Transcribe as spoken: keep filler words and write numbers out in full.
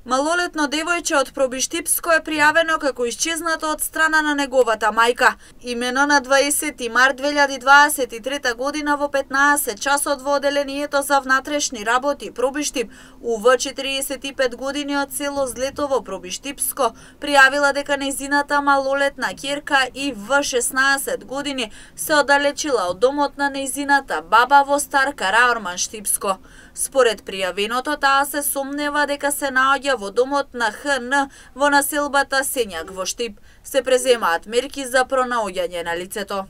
Малолетно девојче од Пробиштипско е пријавено како исчезнато од страна на неговата мајка. Имено на дваесети март две илјади дваесет и трета година во петнаесет часот во Оделението за внатрешни работи Пробиштип, У В четириесет и пет години од село Злетово, Пробиштипско, пријавила дека нејзината малолетна ќерка И В шеснаесет години се оддалечила од домот на нејзината баба во Стар Караорман, Штипско. Според пријавеното, таа се сомнева дека се наоѓа во домот на Х Н во населбата Сењак во Штип. Се преземаат мерки за пронаоѓање на лицето.